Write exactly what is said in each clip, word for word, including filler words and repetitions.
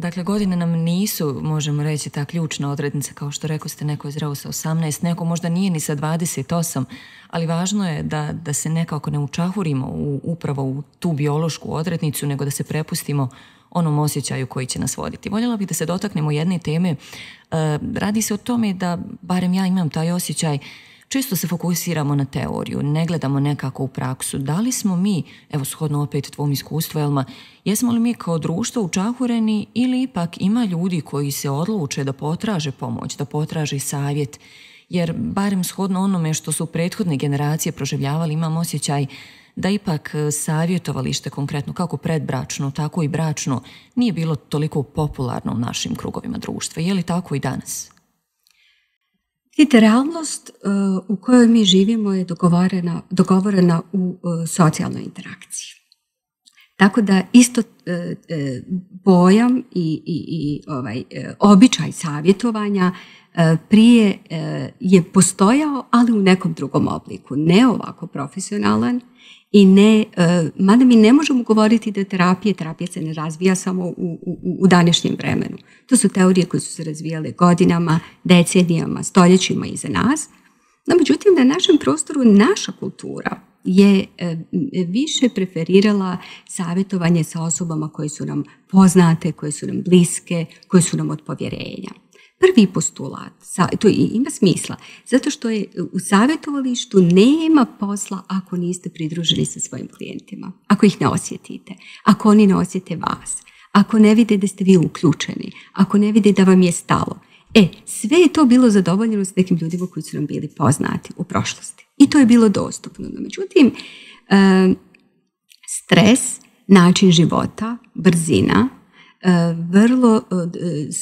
Dakle, godine nam nisu, možemo reći, ta ključna odrednica, kao što rekao ste, neko je zreo sa osamnaest, neko možda nije ni sa dvadeset osam, ali važno je da, da se nekako ne učahurimo u, upravo u tu biološku odrednicu, nego da se prepustimo onom osjećaju koji će nas voditi. Voljela bih da se dotaknemo jedne teme. E, radi se o tome da, barem ja imam taj osjećaj, često se fokusiramo na teoriju, ne gledamo nekako u praksu. Da li smo mi, evo shodno opet tvom iskustvu, Elma, jesmo li mi kao društvo učahureni ili ipak ima ljudi koji se odluče da potraže pomoć, da potraže savjet? Jer barem shodno onome što su prethodne generacije proživljavali, imam osjećaj da ipak savjetovalište konkretno, kako predbračno, tako i bračno, nije bilo toliko popularno u našim krugovima društva. Je li tako i danas? Vidite, realnost uh, u kojoj mi živimo je dogovorena, dogovorena u uh, socijalnoj interakciji. Tako da isto uh, uh, pojam i, i, i ovaj, uh, običaj savjetovanja uh, prije uh, je postojao, ali u nekom drugom obliku. Ne ovako profesionalan i ne, uh, mada mi ne možemo govoriti da terapije, terapija se ne razvija samo u, u, u današnjem vremenu. To su teorije koje su se razvijale godinama, decenijama, stoljećima iza nas. No, međutim, na našem prostoru naša kultura je e, više preferirala savjetovanje sa osobama koje su nam poznate, koje su nam bliske, koje su nam od povjerenja. Prvi postulat, to ima smisla, zato što je u savjetovalištu nema posla ako niste pridruženi sa svojim klijentima, ako ih ne osjetite, ako oni ne osjete vas, ako ne vide da ste vi uključeni, ako ne vide da vam je stalo. E, sve je to bilo zadovoljeno s nekim ljudima koji su nam bili poznati u prošlosti. I to je bilo dostupno. No, međutim, stres, način života, brzina, vrlo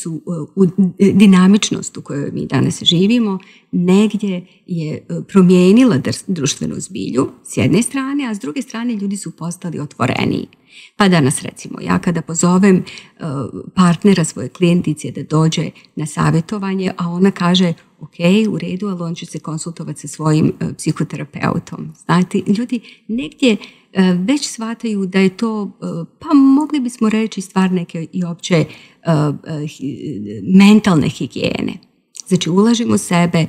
su u dinamičnost u kojoj mi danas živimo, negdje je promijenila društvenu zbilju s jedne strane, a s druge strane ljudi su postali otvoreniji. Pa danas recimo, ja kada pozovem partnera svoje klijentice da dođe na savjetovanje, a ona kaže ok, u redu, ali on će se konsultovati sa svojim psihoterapeutom. Znate, ljudi negdje već shvataju da je to, pa mogli bismo reći, stvar neke i opće mentalne higijene. Znači, ulažimo sebe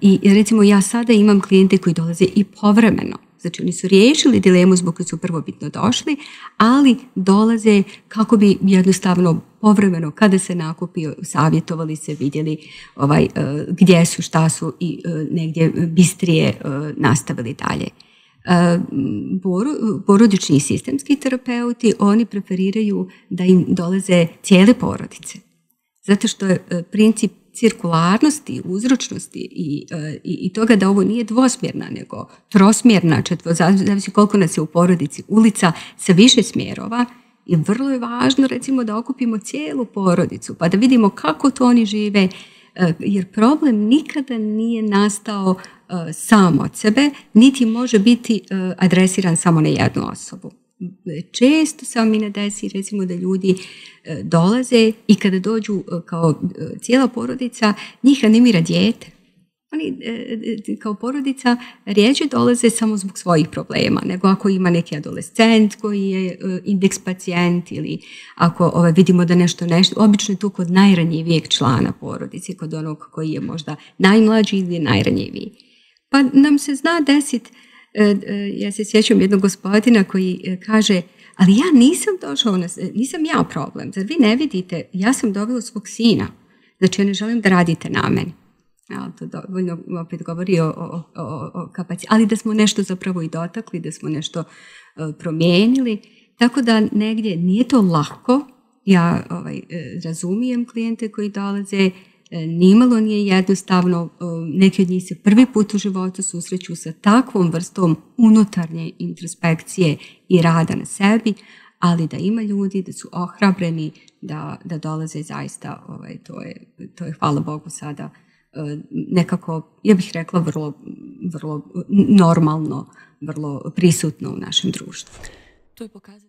i recimo ja sada imam klijente koji dolaze i povremeno. Znači, oni su riješili dilemu zbog koje su prvobitno došli, ali dolaze kako bi jednostavno povremeno, kada se nakupio, savjetovali se, vidjeli ovaj, gdje su, šta su i negdje bistrije nastavili dalje. Porodični i sistemski terapeuti, oni preferiraju da im dolaze cijele porodice. Zato što je princip cirkularnosti, uzročnosti i, i, i toga da ovo nije dvosmjerna, nego trosmjerna, četvo, zavisi koliko nas je u porodici, ulica sa više smjerova, i vrlo je važno recimo da okupimo cijelu porodicu pa da vidimo kako to oni žive, jer problem nikada nije nastao sam od sebe, niti može biti adresiran samo na jednu osobu. Često se mi ne desi recimo da ljudi dolaze i kada dođu kao cijela porodica, njih animira dijete. Oni kao porodica rijeđe dolaze samo zbog svojih problema, nego ako ima neki adolescent koji je indeks pacijent ili ako ovaj, vidimo da nešto nešto, obično je tu kod najranjivijeg člana porodice, kod onog koji je možda najmlađi ili najranjiviji. Pa nam se zna desiti, ja se sjećam jednog gospodina koji kaže, ali ja nisam došao, na, nisam ja problem, zar vi ne vidite, ja sam dovela svog sina, znači ja ne želim da radite na meni. Ja, to dovoljno opet govori o, o, o, o kapacitetu, ali da smo nešto zapravo i dotakli, da smo nešto uh, promijenili, tako da negdje nije to lako, ja ovaj, razumijem klijente koji dolaze, nimalo nije jednostavno, neki od njih se prvi put u životu susreću sa takvom vrstom unutarnje introspekcije i rada na sebi, ali da ima ljudi, da su ohrabreni, da, da dolaze zaista, ovaj, to, je, to je hvala Bogu sada nekako, ja bih rekla, vrlo, vrlo normalno, vrlo prisutno u našem društvu. To je pokazano.